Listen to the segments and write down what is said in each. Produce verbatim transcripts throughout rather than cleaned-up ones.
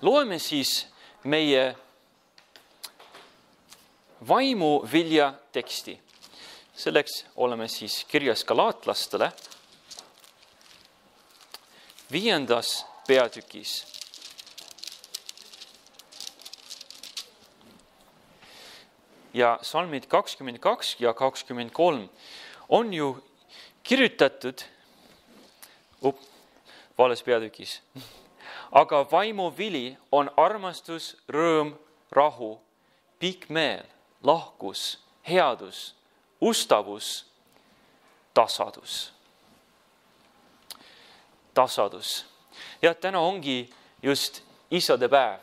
loeme siis meie vaimuvilja teksti. Selleks oleme siis kirjas galaatlastele viiendas peatükis. Ja salmid kakskümmend kaks ja kakskümmend kolm on ju kirjutatud up, vales peatükis. Aga vaimuvili on armastus, rõõm, rahu, pikk meel, lahkus, headus, ustavus, tasadus. Tasadus. Ja täna ongi just isade päev.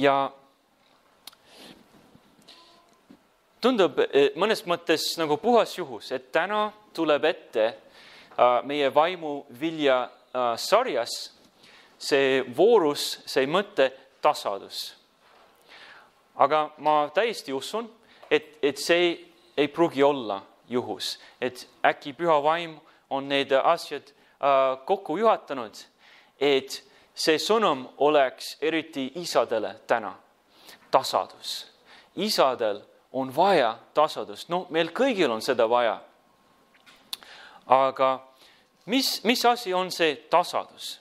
Ja tundub mõnes mõttes nagu puhas juhus, et täna tuleb ette meie vaimuvilja sarjas see voorus, see mõte tasadus. Aga ma täiesti usun, et, et see ei pruugi olla juhus, et äkki püha vaim on need asjad kokku juhatanud, et see sõnum oleks eriti isadele täna. Tasadus. Isadel on vaja tasadust. No meil kõigil on seda vaja. Aga mis, mis asi on see tasadus?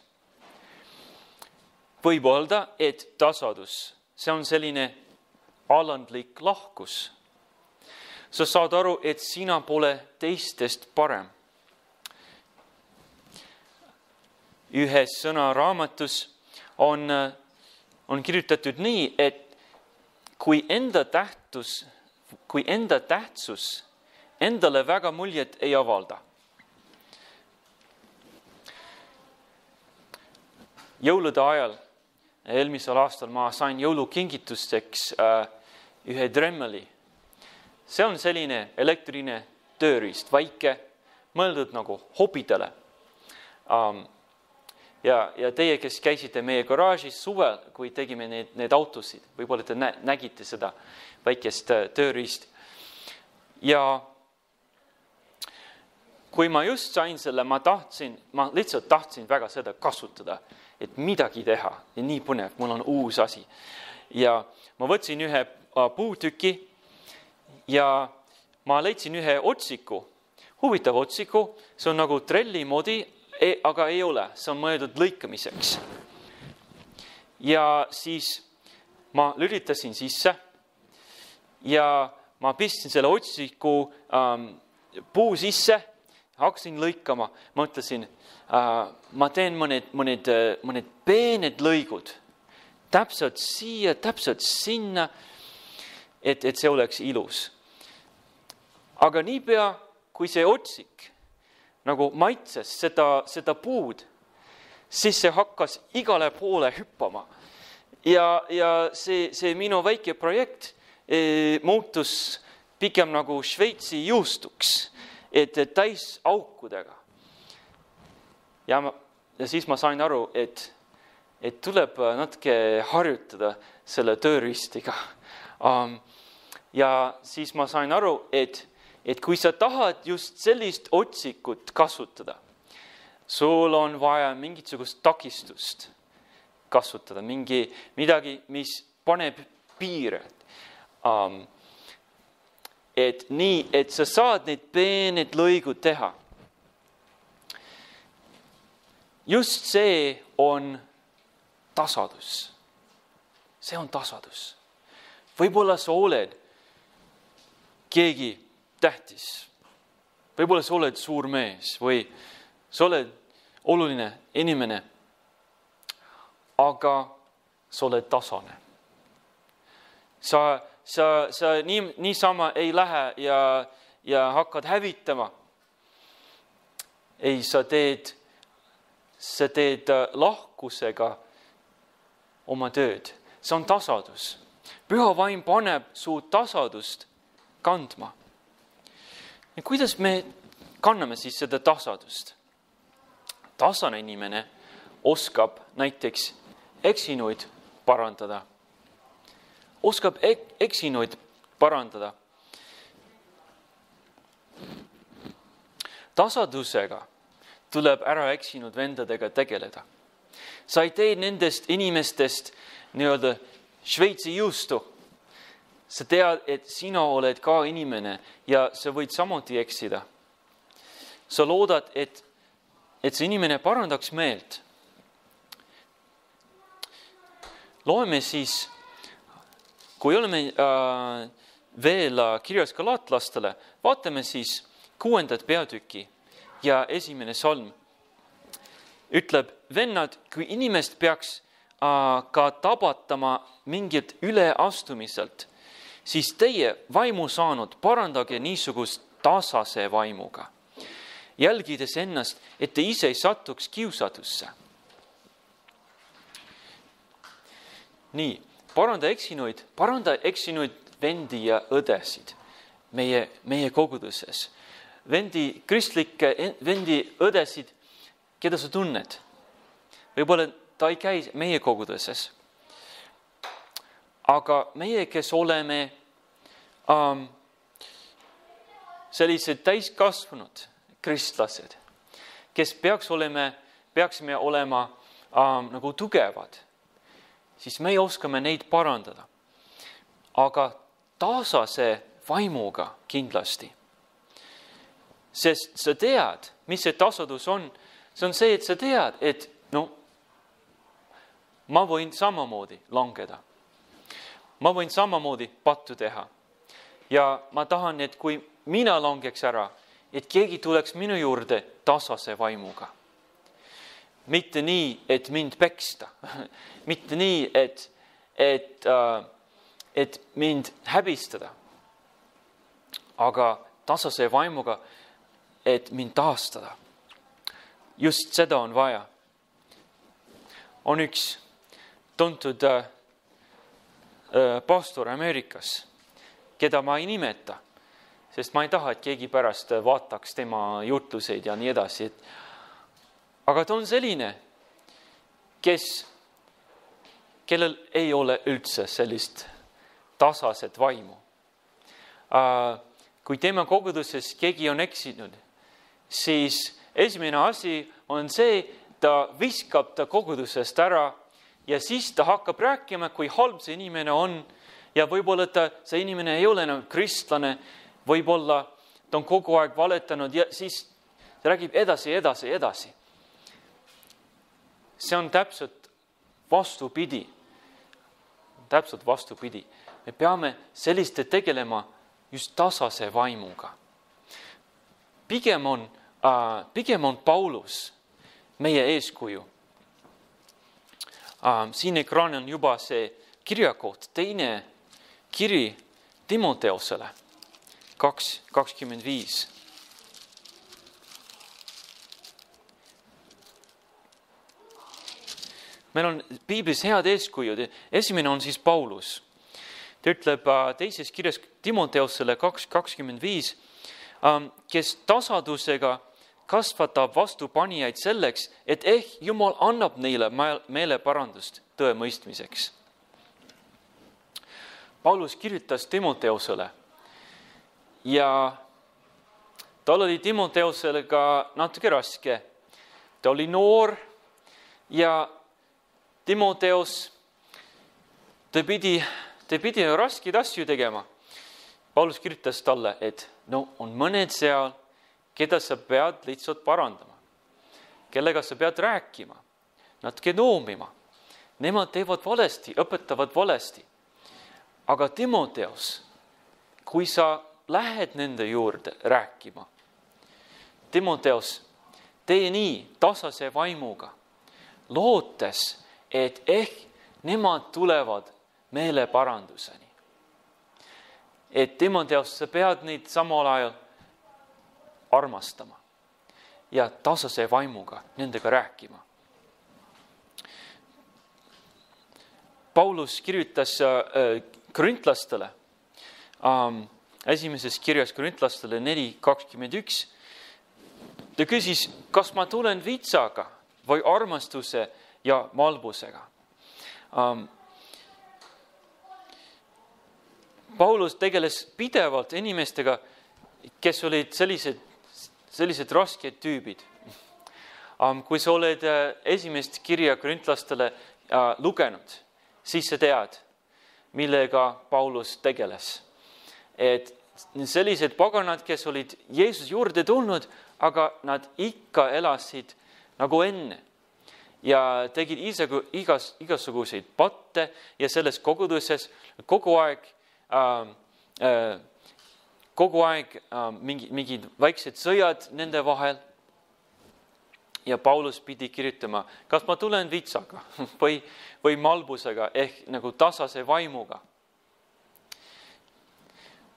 Võib öelda, et tasadus, see on selline alandlik lahkus. Sa saad aru, et sina pole teistest parem. Ühes sõnaraamatus on, on kirjutatud nii, et kui enda tähtsus, kui enda tähtsus endale väga muljet ei avalda. Jõulude ajal, eelmisel aastal ma sain jõulukingitusteks ühe Dremeli. See on selline elektrine tööriist, väike, mõeldud nagu hobidele. Ja, ja teie, kes käisite meie garaažis suvel, kui tegime need, need autosid, võib-olla te nä, nägite seda väikest tööriist. Ja kui ma just sain selle, ma tahtsin, ma lihtsalt tahtsin väga seda kasutada, et midagi teha. Ja nii põnev, mul on uus asi. Ja ma võtsin ühe puutüki ja ma leidsin ühe otsiku, huvitav otsiku, see on nagu trelli moodi, aga ei ole, see on mõeldud lõikamiseks. Ja siis ma lülitasin sisse ja ma pistsin selle otsiku ähm, puu sisse, hakkasin lõikama. Ma ütlesin, äh, ma teen mõned, mõned, mõned peened lõigud, täpselt siia, täpselt sinna, et, et see oleks ilus. Aga niipea, kui see otsik nagu maitses seda, seda puud, siis see hakkas igale poole hüppama. Ja, ja see, see minu väike projekt e, muutus pigem nagu Šveitsi juustuks, et täis aukudega. Ja, ma, ja siis ma sain aru, et, et tuleb natuke harjutada selle tööristiga. Um, ja siis ma sain aru, et et kui sa tahad just sellist otsikut kasutada, sul on vaja mingisugust takistust kasutada, mingi, midagi, mis paneb piire. Um, et nii, et sa saad need peened lõigud teha. Just see on tasadus. See on tasadus. Võib-olla sa oled keegi tähtis. Võib-olla sa oled suur mees või sa oled oluline inimene, aga sa oled tasane. Sa, sa, sa nii, niisama ei lähe ja, ja hakkad hävitama. Ei, sa teed, sa teed lahkusega oma tööd. See on tasadus. Püha vaim paneb su tasadust kandma. Ja kuidas me kanname siis seda tasadust? Tasane inimene oskab näiteks eksinuid parandada. Oskab ek- eksinuid parandada. Tasadusega tuleb ära eksinud vendadega tegeleda. Sa ei tee nendest inimestest nii-öelda Šveitsi juustu. Sa tead, et sina oled ka inimene ja sa võid samuti eksida. Sa loodad, et, et see inimene parandaks meelt. Loeme siis, kui oleme äh, veel kirjas galaatlastele, vaatame siis kuuendat peatüki ja esimene salm. Ütleb, vennad, kui inimest peaks äh, ka tabatama mingit üleastumiselt, siis teie vaimu saanud parandage niisugust tasase vaimuga, jälgides ennast, et te ise ei satuks kiusatusse. Nii, paranda eksinuid, paranda eksinuid vendi ja õdesid meie, meie koguduses. Vendi, kristlikke vendi õdesid, keda sa tunned. Võib-olla ta ei käi meie koguduses. Aga meie, kes oleme um, sellised täiskasvanud kristlased, kes peaks olema, peaksime olema um, nagu tugevad, siis me oskame neid parandada. Aga tasase vaimuga kindlasti. Sest sa tead, mis see tasadus on. See on see, et sa tead, et no, ma võin samamoodi langeda. Ma võin samamoodi pattu teha. Ja ma tahan, et kui mina langeks ära, et keegi tuleks minu juurde tasase vaimuga. Mitte nii, et mind peksta. Mitte nii, et, et, et mind häbistada. Aga tasase vaimuga, et mind taastada. Just seda on vaja. On üks tuntud äh, pastor Ameerikas, keda ma ei nimeta, sest ma ei taha, et keegi pärast vaataks tema jutluseid ja nii edasi. Aga ta on selline, kes, kellel ei ole üldse sellist tasaset vaimu. Äh, kui tema koguduses keegi on eksinud, siis esimene asi on see, ta viskab ta kogudusest ära ja siis ta hakkab rääkima, kui halb see inimene on ja võib-olla ta, see inimene ei ole enam kristlane, võib-olla ta on kogu aeg valetanud ja siis ta räägib edasi, edasi, edasi. See on täpselt vastupidi. Täpselt vastupidi. Me peame selliste tegelema just tasase vaimuga. Pigem on Uh, pigem on Paulus meie eeskuju. Uh, siin ekraan on juba see kirjakoht, teine kiri Timoteosele, kaks kakskümmend viis. Meil on piiblis head eeskujud. Esimene on siis Paulus. Ta ütleb uh, teises kirjas Timoteosele kaks kakskümmend viis, uh, kes tasadusega kasvatab vastupanijaid selleks, et ehk Jumal annab neile meeleparandust tõe mõistmiseks. Paulus kirjutas Timoteosele ja tal oli Timoteosele ka natuke raske. Ta oli noor ja Timoteos, ta pidi, ta pidi raskeid asju tegema. Paulus kirjutas talle, et no on mõned seal, keda sa pead lihtsalt parandama, kellega sa pead rääkima, natuke noomima. Nemad teevad valesti, õpetavad valesti. Aga Timoteos, kui sa lähed nende juurde rääkima, Timoteos, tee nii tasase vaimuga, lootes, et ehk nemad tulevad meeleparanduseni. Et Timoteos, sa pead neid samal ajal armastama ja tasase vaimuga nendega rääkima. Paulus kirjutas korintlastele, esimeses kirjas korintlastele neli kakskümmend üks. Ta küsis, kas ma tulen vitsaga või armastuse ja malbusega. Paulus tegeles pidevalt inimestega, kes olid sellised sellised rasked tüübid. Kui sa oled esimest kirja korintlastele lugenud, siis sa tead, millega Paulus tegeles. Et sellised paganad, kes olid Jeesus juurde tulnud, aga nad ikka elasid nagu enne ja tegid igas, igasuguseid patte ja selles koguduses kogu aeg, äh, äh, kogu aeg äh, mingi, mingid väiksed sõjad nende vahel. Ja Paulus pidi kirjutama, kas ma tulen vitsaga või, või malbusega ehk nagu tasase vaimuga.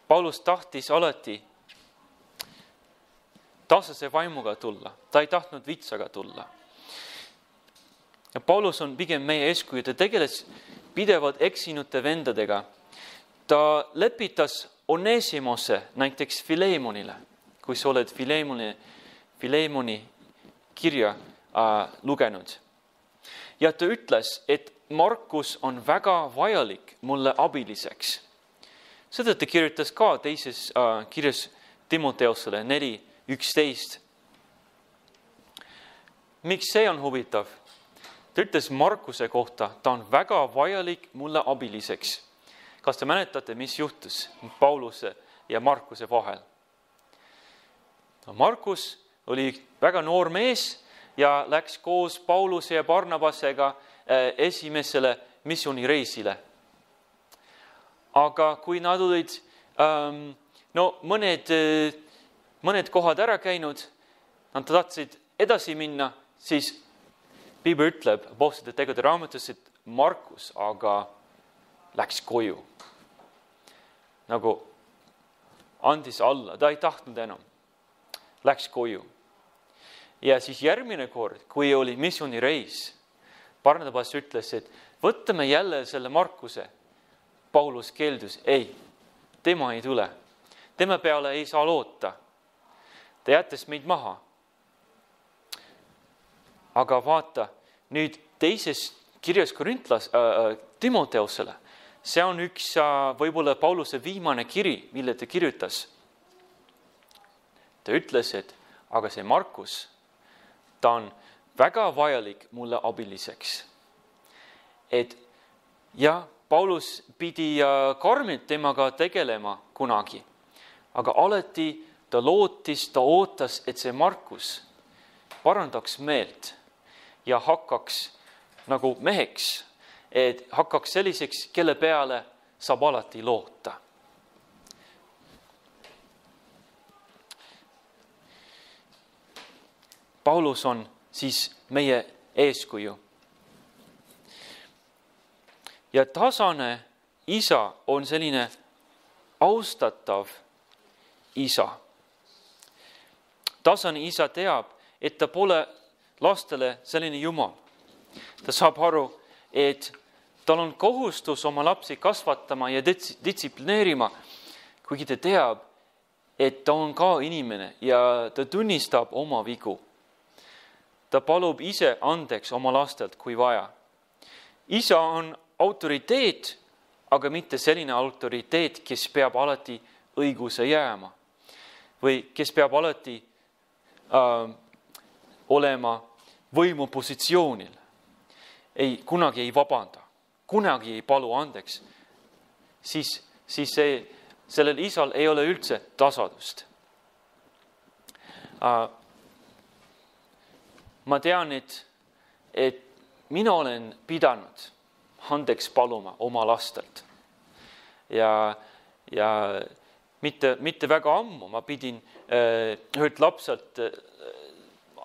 Paulus tahtis alati tasase vaimuga tulla. Ta ei tahtnud vitsaga tulla. Ja Paulus on pigem meie eeskuju. Ta tegeles pidevalt eksinute vendadega. Ta lepitas Onesimose näiteks Filemonile, kui sa oled Filemoni, Filemoni kirja äh, lugenud. Ja ta ütles, et Markus on väga vajalik mulle abiliseks. Seda ta kirjutas ka teises äh, kirjas Timoteosele neli üksteist. Miks see on huvitav? Ta ütles Markuse kohta, ta on väga vajalik mulle abiliseks. Kas te mäletate, mis juhtus Pauluse ja Markuse vahel? Markus oli väga noor mees ja läks koos Pauluse ja Barnabasega esimesele missioonireisile. Aga kui nad olid ähm, no, mõned, mõned kohad ära käinud, nad tahtsid edasi minna, siis Piibel ütleb Apostlite tegude raamatus, et Markus aga läks koju. Nagu andis alla, ta ei tahtnud enam. Läks koju. Ja siis järgmine kord, kui oli missioonireis, Barnabas ütles, et võtame jälle selle Markuse. Paulus keeldus, ei, tema ei tule. Tema peale ei saa loota. Ta jättes meid maha. Aga vaata, nüüd teises kirjas Korintlas, äh, Timoteosele, see on üks äh, võib-olla Pauluse viimane kiri, mille ta kirjutas. Ta ütles, et aga see Markus, ta on väga vajalik mulle abiliseks. Et ja, Paulus pidi karmilt temaga tegelema kunagi, aga alati ta lootis, ta ootas, et see Markus parandaks meelt ja hakkaks nagu meheks, et hakkaks selliseks, kelle peale saab alati loota. Paulus on siis meie eeskuju. Ja tasane isa on selline austatav isa. Tasane isa teab, et ta pole lastele selline jumal. Ta saab aru, et tal on kohustus oma lapsi kasvatama ja distsiplineerima, kuigi ta teab, et ta on ka inimene ja ta tunnistab oma vigu. Ta palub ise andeks oma lastelt, kui vaja. Isa on autoriteet, aga mitte selline autoriteet, kes peab alati õiguse jääma või kes peab alati äh, olema võimupositsioonil. Ei, kunagi ei vabanda, kunagi ei palu andeks. Siis, siis see, sellel isal ei ole üldse tasadust. Äh, ma tean, et, et mina olen pidanud andeks paluma oma lastelt. Ja, ja mitte, mitte väga ammu ma pidin äh, ühelt lapselt äh,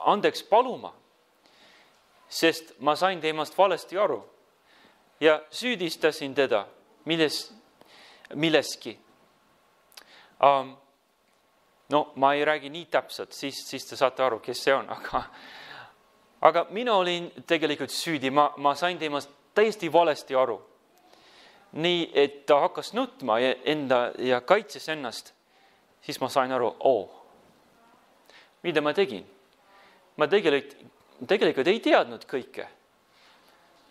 andeks paluma, sest ma sain temast valesti aru ja süüdistasin teda milles, milleski. Um, no ma ei räägi nii täpselt, siis, siis te saate aru, kes see on, aga, aga mina olin tegelikult süüdi, ma, ma sain temast täiesti valesti aru. Nii, et ta hakkas nutma ja, enda, ja kaitses ennast, siis ma sain aru, oo, mida ma tegin? Ma tegelikult, tegelikult ei teadnud kõike.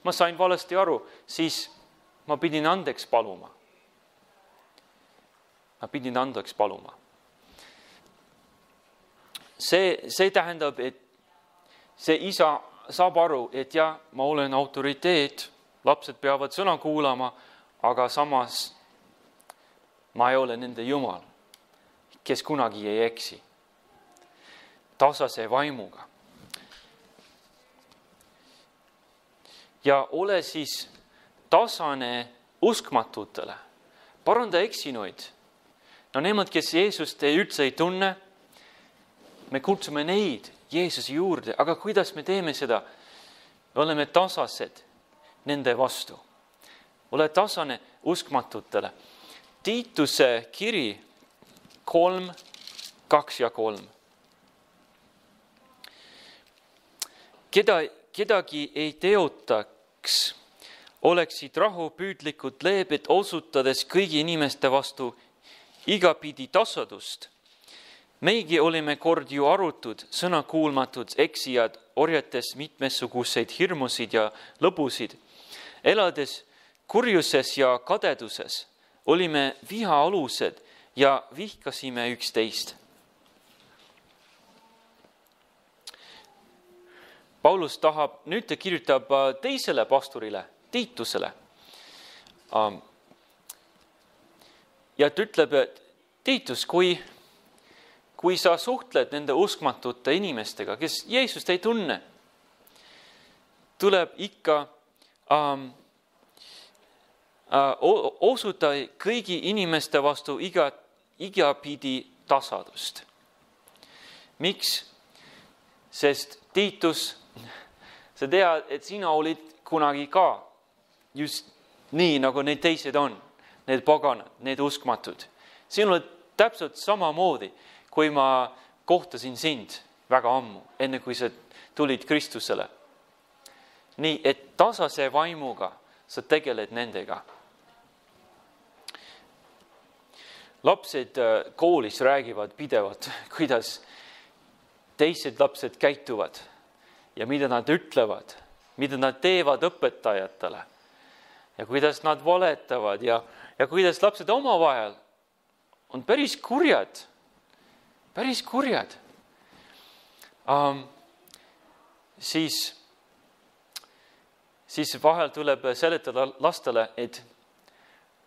Ma sain valesti aru, siis ma pidin andeks paluma. Ma pidin andeks paluma. See, see tähendab, et see isa saab aru, et jah, ma olen autoriteet, lapsed peavad sõna kuulama, aga samas ma ei ole nende Jumal, kes kunagi ei eksi. Tasase vaimuga. Ja ole siis tasane uskmatutele. Paranda eksinuid. No nemad, kes Jeesust ei üldse ei tunne, me kutsume neid Jeesuse juurde, aga kuidas me teeme seda? Me oleme tasased nende vastu. Ole tasane uskmatutele. Tiituse kiri kolm, kaks ja kolm. Keda, kedagi ei teotaks, oleksid rahupüüdlikud leebed osutades kõigi inimeste vastu igapidi tasadust. Meigi olime kord ju arutud, sõnakuulmatud, eksijad, orjates mitmesuguseid hirmusid ja lõbusid. Elades kurjuses ja kadeduses olime viha alused ja vihkasime üksteist. Paulus tahab, nüüd ta kirjutab teisele pastorile, Tiitusele. Ja ta ütleb, et Tiitus, kui, kui sa suhtled nende uskmatute inimestega, kes Jeesust ei tunne, tuleb ikka ähm, äh, osuta kõigi inimeste vastu iga, igapidi tasadust. Miks? Sest Tiitus, sa tead, et sina olid kunagi ka just nii, nagu need teised on, need paganad, need uskmatud. Siin olid täpselt samamoodi, kui ma kohtasin sind väga ammu, enne kui sa tulid Kristusele. Nii, et tasase vaimuga sa tegeled nendega. Lapsed koolis räägivad pidevalt, kuidas teised lapsed käituvad ja mida nad ütlevad, mida nad teevad õpetajatele ja kuidas nad valetavad ja, ja kuidas lapsed omavahel on päris kurjad, päris kurjad. Um, siis, siis vahel tuleb seletada lastele, et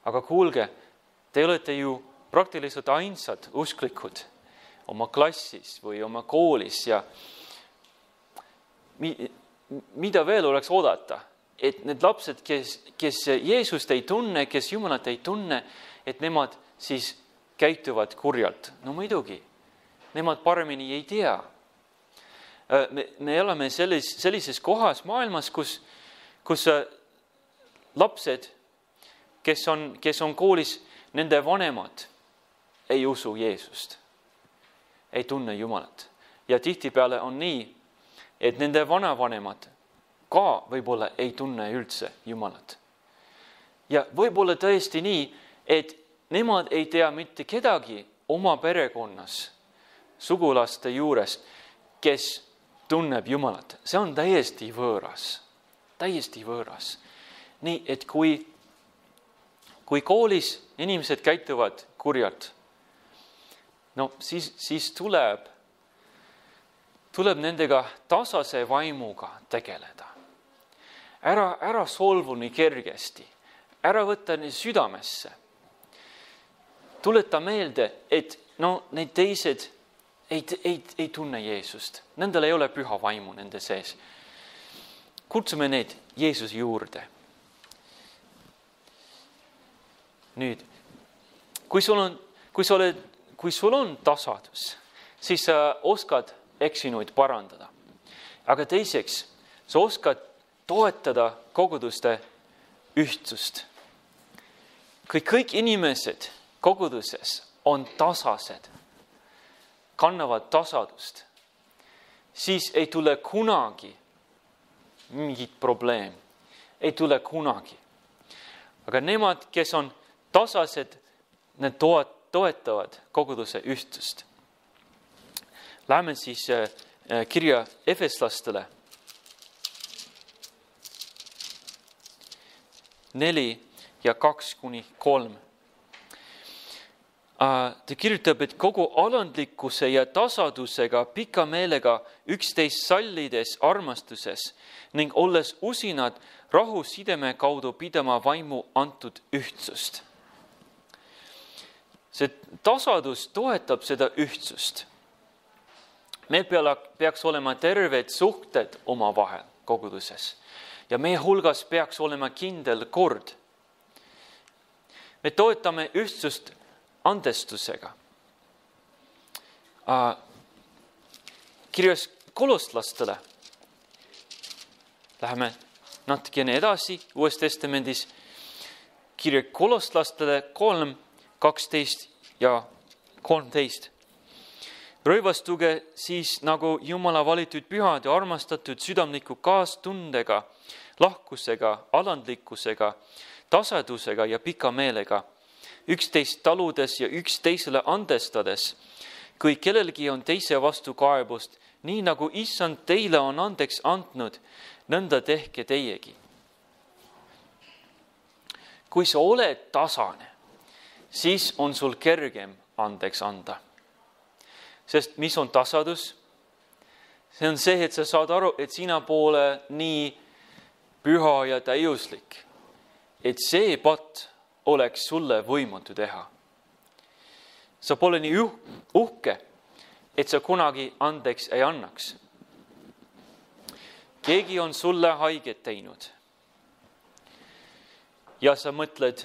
aga kuulge, te olete ju praktiliselt ainsad usklikud oma klassis või oma koolis ja mida veel oleks oodata, et need lapsed, kes, kes Jeesust ei tunne, kes Jumalat ei tunne, et nemad siis käituvad kurjalt. No muidugi, nemad paremini ei tea. Me, me oleme sellis, sellises kohas maailmas, kus, kus lapsed, kes on, kes on koolis, nende vanemad ei usu Jeesust, ei tunne Jumalat. Ja tihtipeale on nii, et nende vanavanemad ka võib-olla ei tunne üldse Jumalat. Ja võib-olla tõesti nii, et nemad ei tea mitte kedagi oma perekonnas, sugulaste juures, kes tunneb Jumalat. See on täiesti võõras, täiesti võõras. Nii, et kui, kui koolis inimesed käituvad kurjalt, no siis, siis tuleb tuleb nendega tasase vaimuga tegeleda. Ära, ära solvu nii kergesti, ära võtta nii südamesse. Tuleta meelde, et no need teised ei, ei, ei tunne Jeesust. Nendel ei ole püha vaimu nende sees. Kutsume need Jeesuse juurde. Nüüd, kui sul on, kui sul on, kui sul on tasadus, siis sa oskad eksinuid parandada. Aga teiseks, sa oskad toetada koguduste ühtsust. Kui kõik inimesed koguduses on tasased, kannavad tasadust, siis ei tule kunagi mingit probleem. Ei tule kunagi. Aga nemad, kes on tasased, need toetavad koguduse ühtsust. Läheme siis kirja Efeslastele. Neli ja kaks kuni kolm. ta kirjutab, et kogu alandlikkuse ja tasadusega, pika meelega üksteist sallides armastuses ning olles usinad rahu sideme kaudu pidama vaimu antud ühtsust. See tasadus toetab seda ühtsust. Meil peaks olema terved suhted oma vahel koguduses ja meie hulgas peaks olema kindel kord. Me toetame ühtsust andestusega. Kirjas kolostlastele. Läheme natukene edasi Uues Testamendis. Kirja kolostlastele kolm, kaksteist ja kolmteist. Rõivastuge siis nagu Jumala valitud pühad ja armastatud südamliku kaastundega, lahkusega, alandlikkusega, tasadusega ja pika meelega, üksteist taludes ja üksteisele andestades, kui kellelgi on teise vastu kaebust, nii nagu Issand teile on andeks andnud, nõnda tehke teiegi. Kui sa oled tasane, siis on sul kergem andeks anda. Sest mis on tasadus? See on see, et sa saad aru, et sina pole nii püha ja täiuslik, et see patt oleks sulle võimatu teha. Sa pole nii uhke, et sa kunagi andeks ei annaks. Keegi on sulle haiget teinud. Ja sa mõtled,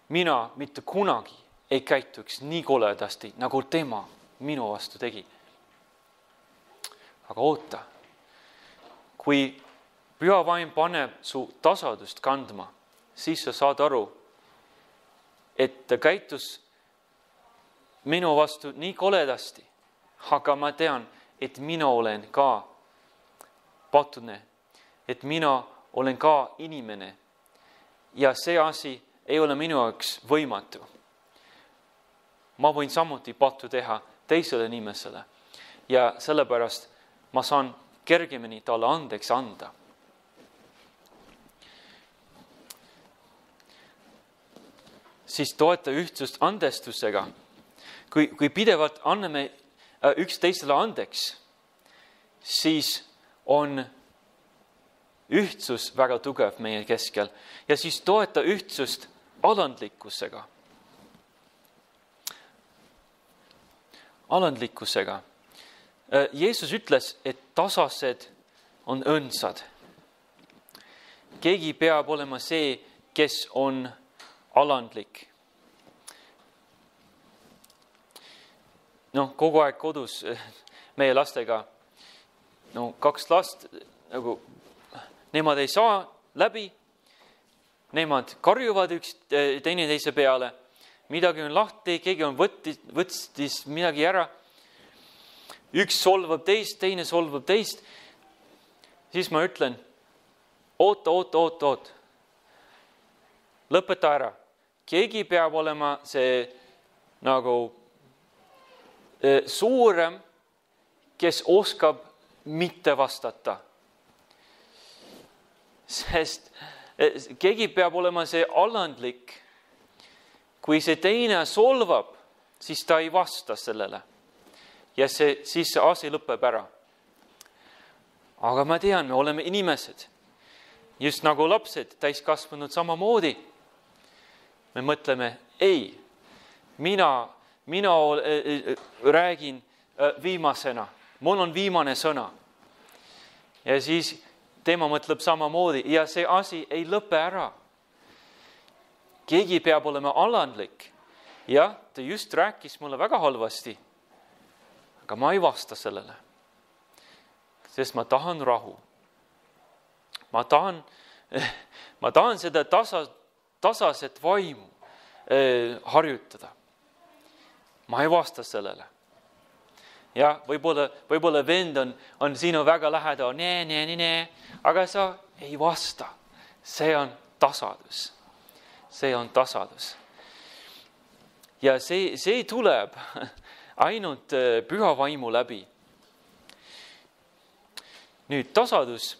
mina mitte kunagi ei käituks nii koledasti, nagu tema minu vastu tegi. Aga oota, kui püha vaim paneb su tasadust kandma, siis sa saad aru, et ta käitus minu vastu nii koledasti, aga ma tean, et mina olen ka patune, et mina olen ka inimene ja see asi ei ole minu jaoks võimatu. Ma võin samuti pattu teha teisele inimesele ja sellepärast ma saan kergemini talle andeks anda. Siis toeta ühtsust andestusega. Kui, kui pidevalt anname üksteisele andeks, siis on ühtsus väga tugev meie keskel. Ja siis toeta ühtsust alandlikkusega. Alandlikkusega. Jeesus ütles, et tasased on õndsad. Keegi peab olema see, kes on alandlik. No, kogu aeg kodus meie lastega, no kaks last, nagu, nemad ei saa läbi, nemad karjuvad üks teine teise peale, midagi on lahti, keegi on võttis, võttis midagi ära, üks solvab teist, teine solvab teist, siis ma ütlen, oota, oota, oota, oota, lõpeta ära. Keegi peab olema see nagu suurem, kes oskab mitte vastata. Sest keegi peab olema see alandlik. Kui see teine solvab, siis ta ei vasta sellele. Ja see, siis see asi lõpeb ära. Aga ma tean, me oleme inimesed. Just nagu lapsed, täiskasvanud samamoodi. Me mõtleme, ei, mina, mina räägin viimasena. Mul on viimane sõna. Ja siis tema mõtleb samamoodi ja see asi ei lõpe ära. Keegi peab olema alandlik. Ja, ta just rääkis mulle väga halvasti. Aga ma ei vasta sellele. Sest ma tahan rahu. Ma tahan, ma tahan seda tasa, tasaset vaimu eh, harjutada. Ma ei vasta sellele. Ja võib-olla, võib-olla vend on, on sinu väga lähedal, nee, nee, nee, nee, aga sa ei vasta. See on tasadus. See on tasadus. Ja see, see tuleb ainult püha vaimu läbi. Nüüd tasadus.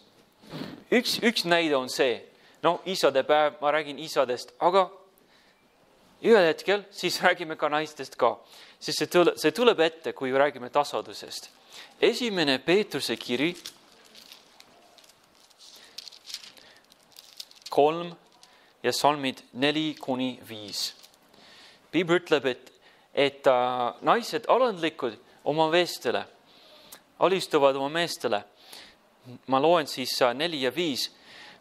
Üks, üks näide on see. No isade päev, ma räägin isadest, aga ühel hetkel siis räägime ka naistest ka, sest see tuleb, see tuleb ette, kui räägime tasadusest. Esimene Peetruse kiri, kolm ja salmid neli kuni viis. Piibel ütleb, et, et äh, naised alandlikud oma meestele, alistuvad oma meestele. Ma loen siis äh, neli ja viis.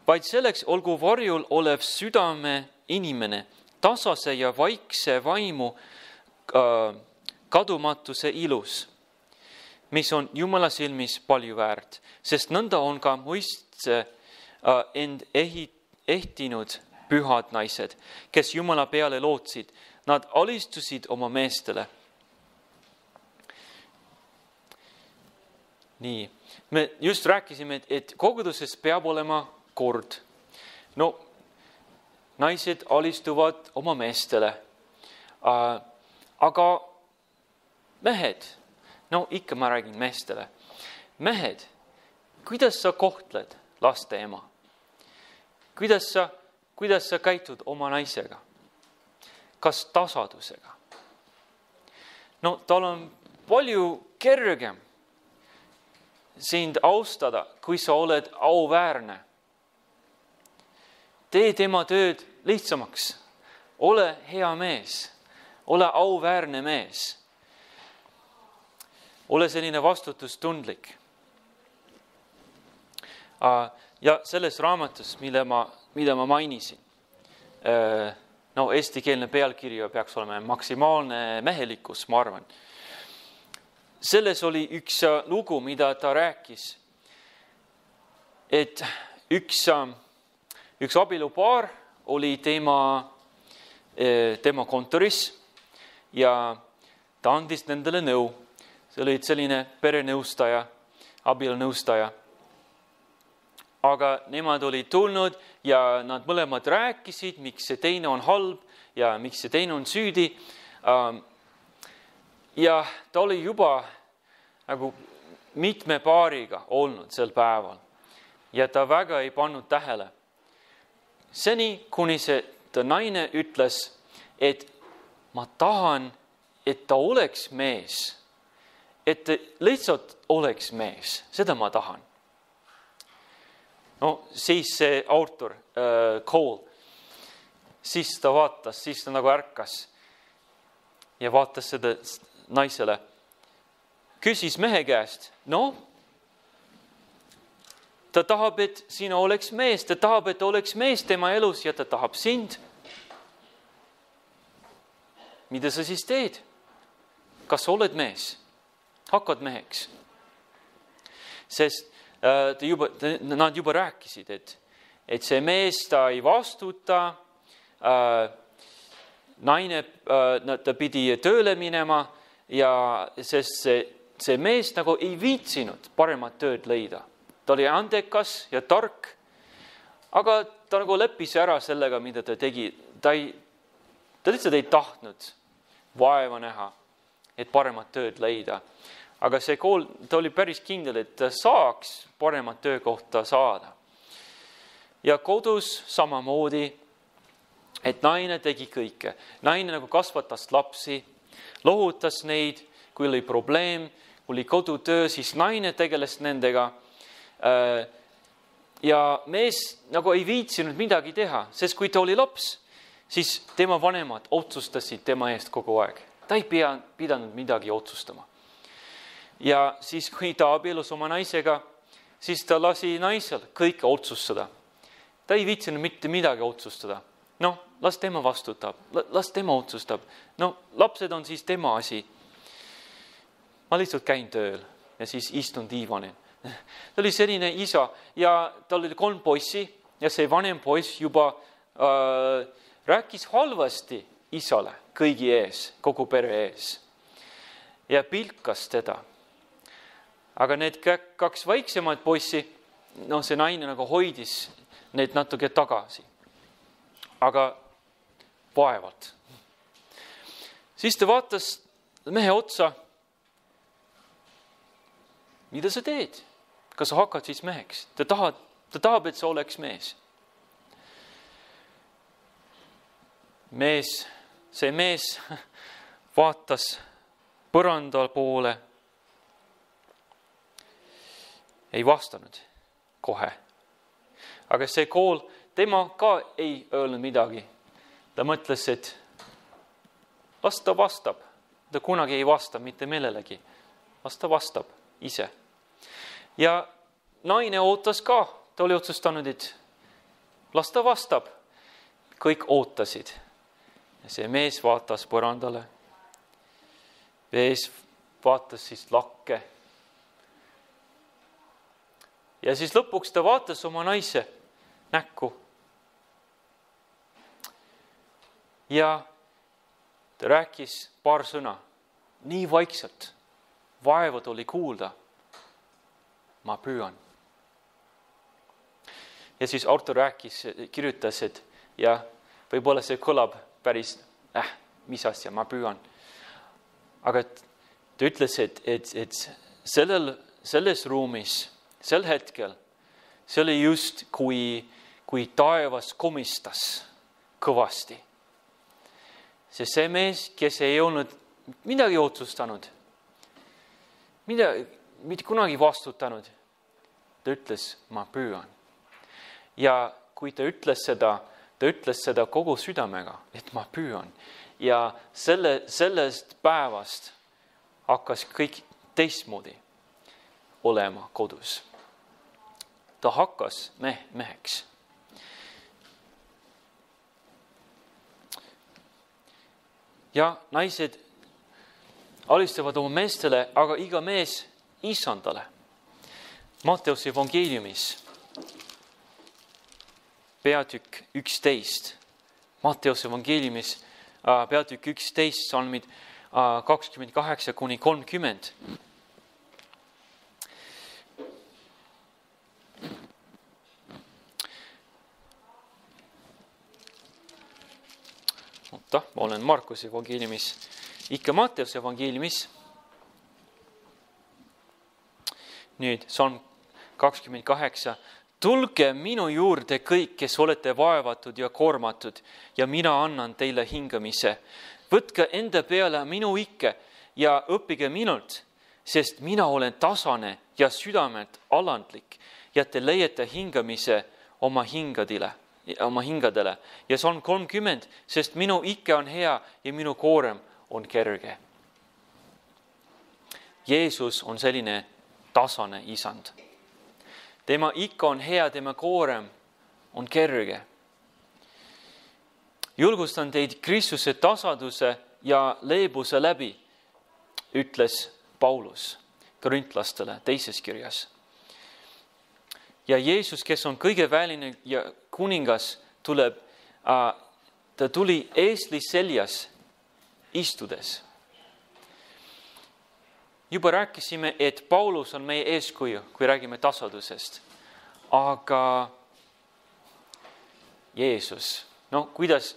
Vaid selleks olgu varjul olev südame inimene, tasase ja vaikse vaimu äh, kadumatuse ilus, mis on Jumala silmis palju väärt, sest nõnda on ka muistse äh, end ehit, ehtinud pühad naised, kes Jumala peale lootsid. Nad alistusid oma meestele. Nii, me just rääkisime, et, et koguduses peab olema kord. No, naised alistuvad oma meestele. Äh, aga mehed, no ikka ma räägin meestele. Mehed, kuidas sa kohtled laste ema? Kuidas sa, kuidas sa käitud oma naisega? Kas tasadusega? No, tal on palju kergem sind austada, kui sa oled auväärne. Tee tema tööd lihtsamaks. Ole hea mees. Ole auväärne mees. Ole selline vastutustundlik. Ja selles raamatus, mille ma, mida ma mainisin, no eestikeelne pealkirja peaks olema maksimaalne mehelikkus, ma arvan. Selles oli üks lugu, mida ta rääkis, et üks, üks abielupaar oli tema, tema kontoris ja ta andis nendele nõu. See oli selline perenõustaja, abielunõustaja. Aga nemad olid tulnud ja nad mõlemad rääkisid, miks see teine on halb ja miks see teine on süüdi. Ja ta oli juba nagu mitme paariga olnud sel päeval ja ta väga ei pannud tähele. Seni, kuni see ta naine ütles, et ma tahan, et ta oleks mees, et lihtsalt oleks mees, seda ma tahan. No siis see autor, äh, Cole, siis ta vaatas, siis ta nagu ärkas ja vaatas seda naisele. Küsis mehe käest, no, ta tahab, et sina oleks mees, ta tahab, et oleks mees tema elus ja ta tahab sind. Mida sa siis teed? Kas sa oled mees? Hakkad meheks? Sest äh, juba, nad juba rääkisid, et, et see mees ta ei vastuta, äh, naine äh, ta pidi tööle minema ja sest see, see mees nagu ei viitsinud paremat tööd leida. Ta oli andekas ja tark, aga ta nagu leppis ära sellega, mida ta tegi. Ta, ei, ta lihtsalt ei tahtnud vaeva näha, et paremat tööd leida. Aga see kool, ta oli päris kindel, et ta saaks paremat töökohta saada. Ja kodus samamoodi, et naine tegi kõike. Naine nagu kasvatas lapsi, lohutas neid, kui oli probleem, kui oli kodutöö, siis naine tegeles nendega. Ja mees nagu ei viitsinud midagi teha, sest kui ta oli laps, siis tema vanemad otsustasid tema eest kogu aeg. Ta ei pea, pidanud midagi otsustama. Ja siis, kui ta abielus oma naisega, siis ta lasi naisel kõike otsustada. Ta ei viitsinud mitte midagi otsustada. No, las tema vastutab, las tema otsustab. No, lapsed on siis tema asi. Ma lihtsalt käin tööl ja siis istun diivanil. Ta oli selline isa ja tal oli kolm poissi ja see vanem poiss juba äh, rääkis halvasti isale kõigi ees, kogu pere ees ja pilkas teda. Aga need kaks vaiksemad poissi, no see naine nagu hoidis need natuke tagasi. Aga vaevalt. Siis ta vaatas mehe otsa. Mida sa teed? Kas sa hakkad siis meheks? Ta tahab, ta tahab, et sa oleks mees. Mees see mees vaatas põranda poole, ei vastanud kohe. Aga see kool, tema ka ei öelnud midagi. Ta mõtles, et las ta vastab. Ta kunagi ei vasta mitte millelegi. Las ta vastab ise. Ja naine ootas ka. Ta oli otsustanud, et las ta vastab. Kõik ootasid. Ja see mees vaatas põrandale. Mees vaatas siis lakke. Ja siis lõpuks ta vaatas oma naise näkku. Ja ta rääkis paar sõna. Nii vaikselt. Vaevad oli kuulda. Ma püüan. Ja siis Artur rääkis, kirjutas, et ja võib-olla see kõlab päris, äh, mis asja, ma püüan. Aga ta ütles, et, et, et sellel, selles ruumis, sel hetkel, see oli just kui, kui taevas komistas kõvasti. See see mees, kes ei olnud midagi otsustanud, mida, mitte kunagi vastutanud, ta ütles, ma püüan. Ja kui ta ütles seda, ta ütles seda kogu südamega, et ma püüan. Ja selle, sellest päevast hakkas kõik teistmoodi olema kodus. Ta hakkas meh, meheks. Ja naised alistavad oma meestele, aga iga mees isandale. Matteuse evangeeliumis peatükk üksteist. Matteuse evangeeliumis peatükk üksteist, salmid kakskümmend kaheksa kuni kolmkümmend. Oota, ma olen Markuse evangeeliumis, ikka Matteuse evangeeliumis. Nüüd salm kakskümmend kaheksa. Tulge minu juurde kõik, kes olete vaevatud ja koormatud ja mina annan teile hingamise. Võtke enda peale minu ikke ja õppige minult, sest mina olen tasane ja südamelt alandlik ja te leiate hingamise oma hingadele. oma hingadele. Ja salm kolmkümmend, sest minu ikke on hea ja minu koorem on kerge. Jeesus on selline tasane isand. Tema ikka on hea, tema koorem on kerge. Julgustan teid Kristuse tasaduse ja leebuse läbi, ütles Paulus korintlastele teises kirjas. Ja Jeesus, kes on kõige väline ja kuningas, tuleb, ta tuli eesli seljas istudes. Juba rääkisime, et Paulus on meie eeskuju, kui räägime tasadusest. Aga Jeesus, no kuidas,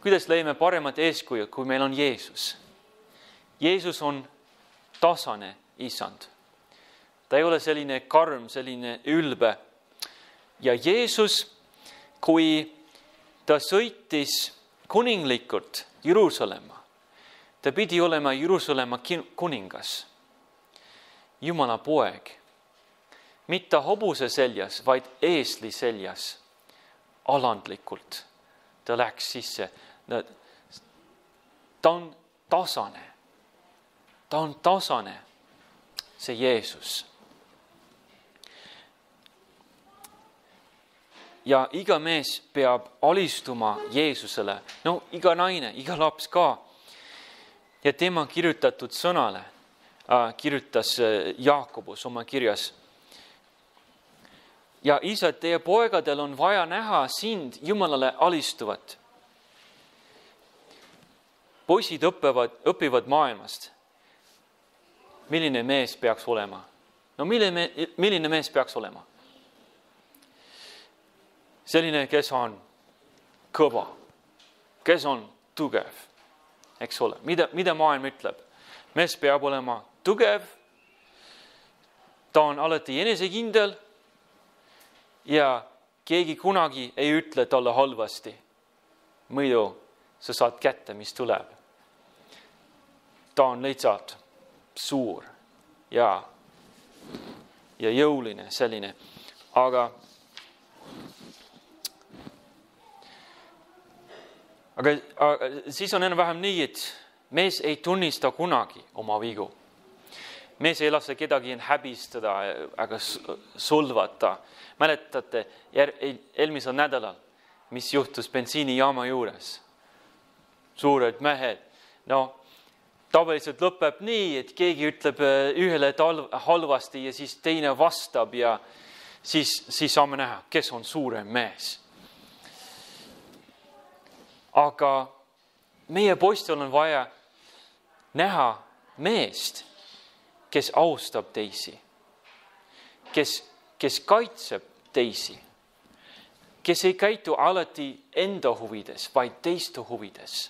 kuidas leiame paremat eeskuju, kui meil on Jeesus? Jeesus on tasane isand. Ta ei ole selline karm, selline ülbe. Ja Jeesus, kui ta sõitis kuninglikult Jeruusalemma, ta pidi olema Jeruusalemma kuningas. Jumala poeg, mitte hobuse seljas, vaid eesli seljas, alandlikult. Ta läks sisse. Ta on tasane. Ta on tasane, see Jeesus. Ja iga mees peab alistuma Jeesusele. No iga naine, iga laps ka. Ja tema kirjutatud sõnale kirjutas Jaakobus oma kirjas. Ja isa, teie poegadel on vaja näha sind Jumalale alistuvat. Poisid õpivad, õpivad maailmast. Milline mees peaks olema? No milline, milline mees peaks olema? Selline, kes on kõva, kes on tugev, eks ole. Mida, mida maailm ütleb? Mees peab olema tugev, ta on alati enesekindel ja keegi kunagi ei ütle talle halvasti. Muidu sa saad kätte, mis tuleb. Ta on lihtsalt suur ja, ja jõuline selline. Aga, aga, aga siis on enam-vähem nii, et mees ei tunnista kunagi oma vigu. Mees ei lase kedagi häbistada, aga solvata. Mäletate eelmisel nädalal, mis juhtus bensiinijaama juures? Suured mehed. No, tavaliselt lõpeb nii, et keegi ütleb ühele halvasti ja siis teine vastab ja siis, siis saame näha, kes on suurem mees. Aga meie poistel on vaja näha meest, kes austab teisi, kes, kes kaitseb teisi, kes ei käitu alati enda huvides, vaid teiste huvides.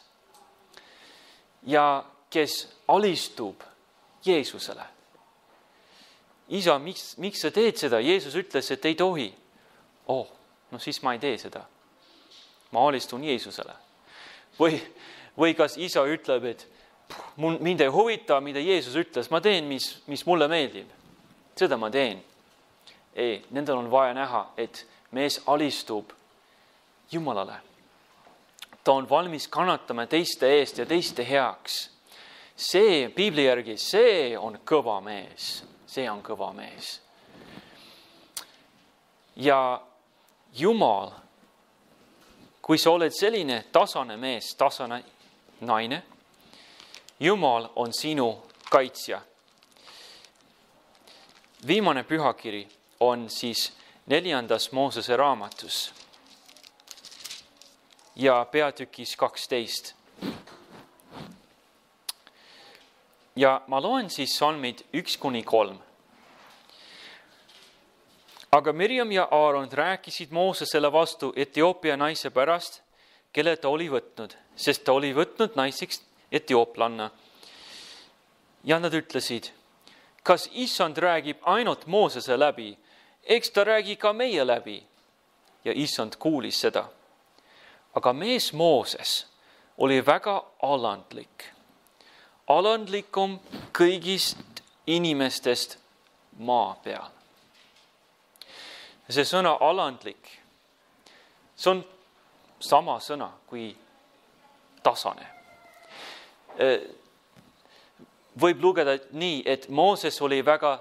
Ja kes alistub Jeesusele. Isa, miks, miks sa teed seda? Jeesus ütles, et ei tohi. Oh, no siis ma ei tee seda. Ma alistun Jeesusele. Või, või kas isa ütleb, et mind ei huvita, mida Jeesus ütles. Ma teen, mis, mis mulle meeldib. Seda ma teen. Ei, nendel on vaja näha, et mees alistub Jumalale. Ta on valmis kannatama teiste eest ja teiste heaks. See, Piibli järgi, see on kõva mees. See on kõva mees. Ja Jumal, kui sa oled selline tasane mees, tasane naine, Jumal on sinu kaitsja. Viimane pühakiri on siis neljandas Moosese raamatus ja peatükis kaksteist. Ja ma loen siis salmid üks kuni kolm. Aga Mirjam ja Aaron rääkisid Moosesele vastu Etioopia naise pärast, kelle ta oli võtnud, sest ta oli võtnud naiseks etiooplanna. Ja nad ütlesid, kas Issand räägib ainult Moosese läbi, eks ta räägi ka meie läbi. Ja Issand kuulis seda. Aga mees Mooses oli väga alandlik. Alandlikum kõigist inimestest maa peal. See sõna alandlik, see on sama sõna kui tasane. Võib lugeda nii, et Mooses oli väga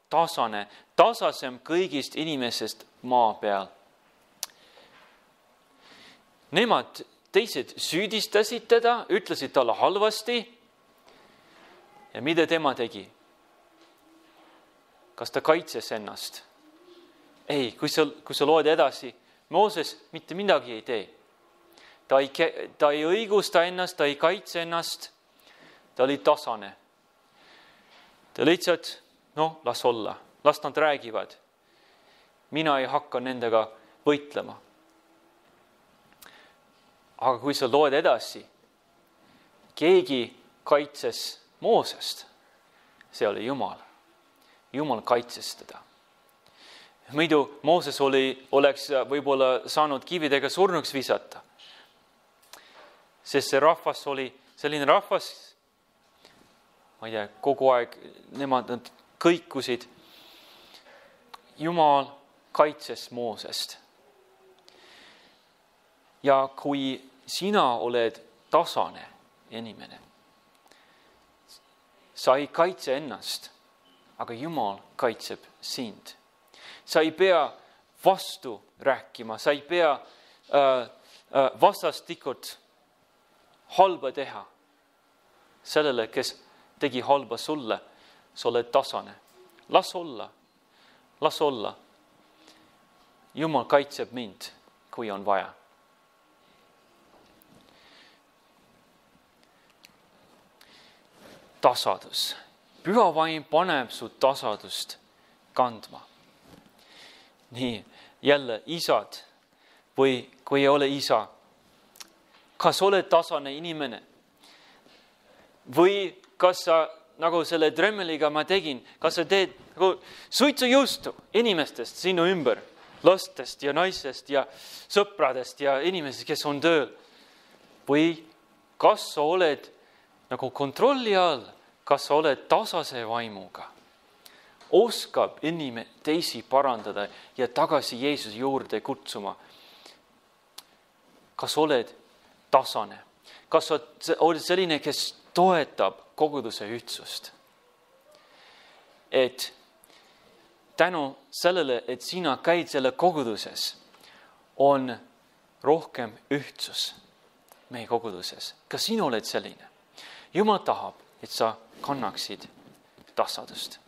tasane, tasasem kõigist inimestest maa peal. Nemad teised süüdistasid teda, ütlesid talle halvasti. Ja mida tema tegi? Kas ta kaitses ennast? Ei, kui sa, kui sa loed edasi, Mooses mitte midagi ei tee. Ta ei, ta ei õigusta ennast, ta ei kaitse ennast, ta oli tasane. Ta lihtsalt, noh, las olla, las nad räägivad. Mina ei hakka nendega võitlema. Aga kui sa loed edasi, keegi kaitses Moosest, see oli Jumal. Jumal kaitses teda. Muidu Mooses oli, oleks võib-olla saanud kividega surnuks visata. Sest see rahvas oli selline rahvas, ma ei tea, kogu aeg nemad nad kõikusid. Jumal kaitses Moosest. Ja kui sina oled tasane inimene, sa ei kaitse ennast, aga Jumal kaitseb sind. Sa ei pea vastu rääkima, sa ei pea äh, äh, vastastikult halba teha sellele, kes tegi halba sulle. Sa oled tasane. Las olla, las olla. Jumal kaitseb mind, kui on vaja. Tasadus. Püha vaim paneb su tasadust kandma. Nii, jälle isad või kui ei ole isa. Kas oled tasane inimene? Või kas sa, nagu selle Dremmeliga ma tegin, kas sa teed nagu suitsujuustu inimestest sinu ümber, lastest ja naisest ja sõpradest ja inimesest, kes on tööl? Või kas sa oled nagu kontrolli all, kas sa oled tasase vaimuga, oskab inimene teisi parandada ja tagasi Jeesuse juurde kutsuma. Kas oled tasane? Kas oled selline, kes toetab koguduse ühtsust? Et tänu sellele, et sina käid selle koguduses, on rohkem ühtsus meie koguduses. Kas sina oled selline? Jumal tahab, et sa kannaksid tasadust.